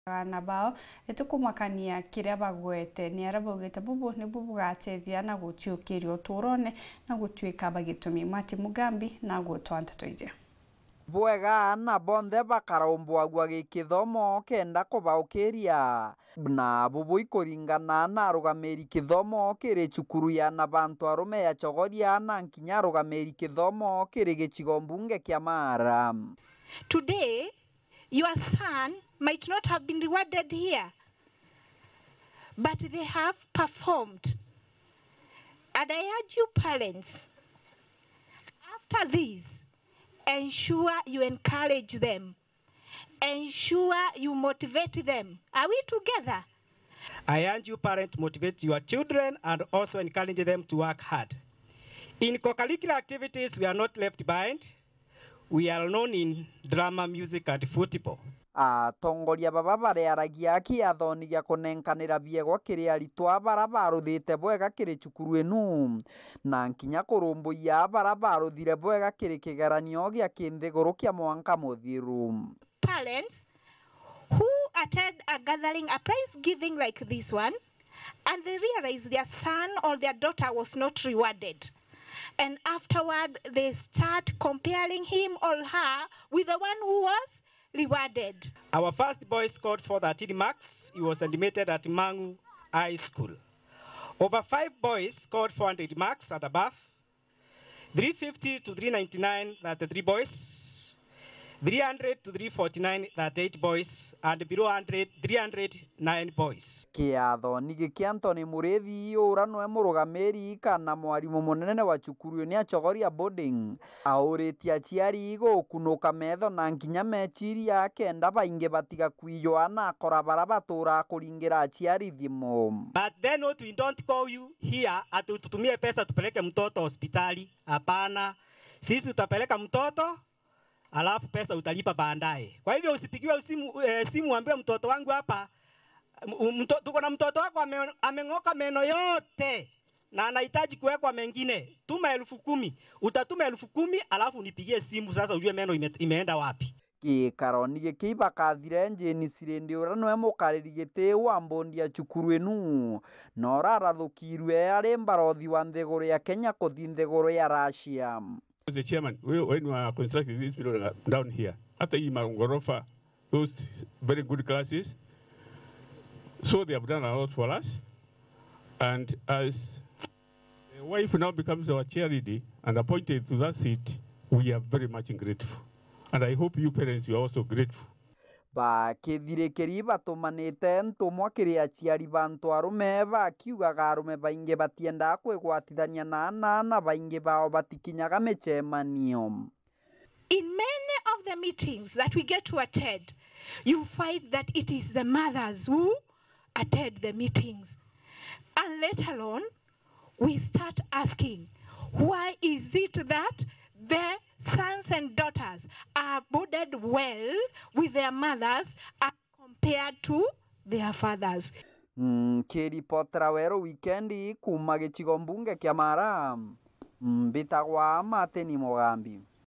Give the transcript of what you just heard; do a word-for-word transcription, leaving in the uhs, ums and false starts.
Aana bao, itikumakania kiria bagwete, ni aria baugite bubu nibu bugatethia na guciukiria uturone na gutuika bagitumi. Martin Mugambi na gutwa nteto iji. Bwega aana bonthe bakarumbwagua gikithomo kenda kubaukiria, na bubu ikuringana na arugamiri kithomo kiri cukuru ya na bantu arume ya Chogoria na nkinya arugamiri kithomo kiri gicigo mbunge kia Mara. Today, your son might not have been rewarded here, but they have performed. And I urge you parents, after this, ensure you encourage them. Ensure you motivate them. Are we together? I urge you parents to motivate your children and also encourage them to work hard. In co-curricular activities, we are not left behind. We are known in drama, music and football. Atongoria baba bariaragia kiathoni gia kunenkanira biegwa kiri aritwa bara baruthite bwega kiri cukuru inu, na nkinya kurumbuia bara baruthire bwega kiri kigeranio gia kinthiguru kia mwanka muthiru. Parents who attend a gathering, a prize giving like this one, and they realize their son or their daughter was not rewarded, and afterward they start comparing him or her with the one who was rewarded. Our first boy scored four thirteen marks. He was admitted at Mang'u High School. Over five boys scored four hundred marks and above. Three fifty to three ninety-nine, thirty-three boys. Three hundred to three forty-nine, thirty-eight boys. And below hundred, three hundred nine boys. Kiathoni giki Anthony Murithi, ura nwe murugamiri kana mwarimu munene wa cukuru ni Achogoria Boarding, auritie aciari gukunuka metho na nkinya meciria kenda baingi batiga kwijwa na akora bara batura kuringira aciari thimu. But then what, we don't call you here ati ututumie pesa tupeleke mtoto hospitali. Hapana. Sisi tutapeleka mtoto, alafu pesa utalipa baadaye. Kwa hivyo usipigiwe simu, eh, simu uambiwe, "Mtoto wangu hapa, m-, mto-, tuko na mtoto wako ame-, ameng'oka meno yote na anahitaji kuwekwa mengine. Tuma elfu kumi." Utatuma elfu kumi, alafu unipigie simu sasa ujue meno ime-, imeenda wapi. Gikaroni giki ibakathire Jane Sirindi, uria nwe mukariri giti wa mbondi ya cukuru inu, na urarathukirwe ari mbarothi wa nthiguru ya Kenya kuthi nthiguru ya Russia. As the chairman, we, when we are constructing this building down here, hata hii magorofa, those very good classes, so they have done a lot for us. And as the wife now becomes our chair lady and appointed to that seat, we are very much grateful. And I hope you parents, you are also grateful. Bakithirikiri batumanite ntumwa kiri aciari ba antu arume, bakiugaga arume baingi batiendaa kwigwatithania na aana, na baingi bao batikinyaga micemanio. In many of the meetings that we get to attend, you find that it is the mothers who attend the meetings. And later on, we start asking, why is it that the sons and daughters are boarded well with their mothers as compared to their fathers? Mm, kiripotera Weru Wikendi kuuma gicigo mbunge kia Mara, mbitagwa Martin Mugambi.